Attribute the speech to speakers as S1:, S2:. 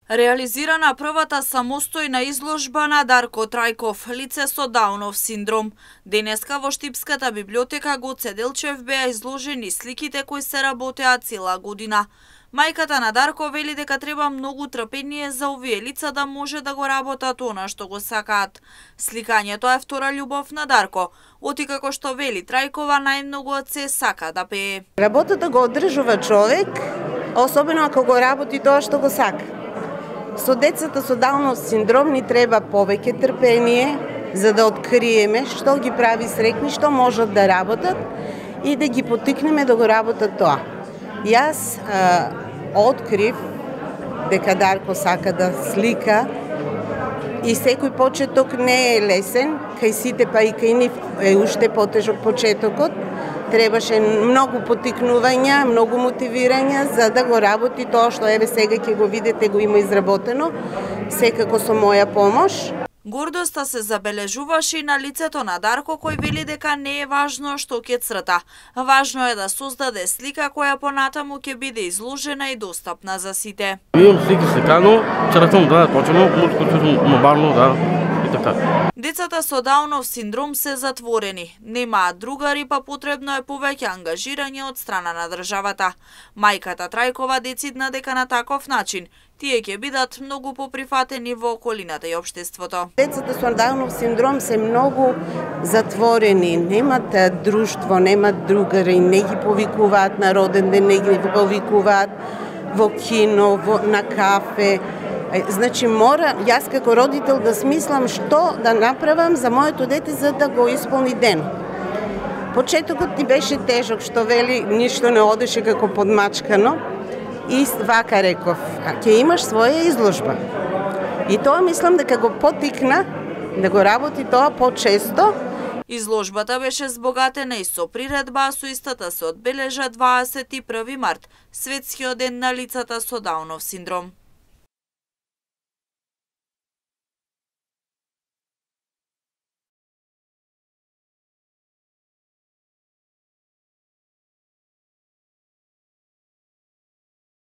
S1: Реализирана првата самостојна изложба на Дарко Трајков, лице со Даунов синдром. Денеска во Штипската библиотека Гоце Делчев беа изложени сликите кои се работеа цела година. Мајката на Дарко вели дека треба многу трпение за овие лица да може да го работат она што го сакаат. Сликањето е втора љубов на Дарко, оти како што вели Трајкова најмногу од се сака да пее.
S2: Работата го одржува човек, особено ако го работи тоа што го сака. Со децата со Даунов синдром ни треба повеќе трпение за да откриеме што ги прави среќни, што можат да работат и да ги поттикнеме да го работат тоа. Јас открив дека Дарко сака да слика и секој почеток не е лесен, кај сите па и кај нив е уште потежок почетокот. Требаше многу поттикнувања, многу мотивирања за да го работи тоа што еве сега ќе го видите, го има изработено, секако со моја помош.
S1: Гордоста се забележуваше и на лицето на Дарко, кој вели дека не е важно што ќе црта. Важно е да создаде слика која понатаму ќе биде изложена и достапна за сите.
S3: Имам слики сликано, цртам да точно, мобилно да и така.
S1: Децата со Даунов синдром се затворени, немаат другари, па потребно е повеќе ангажирање од страна на државата. Мајката Трајкова децидна дека на таков начин тие ќе бидат многу поприфатени во околината и општеството.
S2: Децата со Даунов синдром се многу затворени, немат друштво, немат другари, не ги повикуваат на роден ден, не ги повикуваат во кино, на кафе. Значи мора јас како родител да смислам што да направам за моето дете за да го исполни ден. Почетокот ни беше тежок, што вели ништо не одеше како подмачкано. И вака реков, ќе имаш своја изложба. И тоа мислам дека го поттикна да го работи тоа почесто.
S1: Изложбата беше збогатена и со приредба, а со истата се одбележа 21 март, светскиот ден на лицата со Даунов синдром.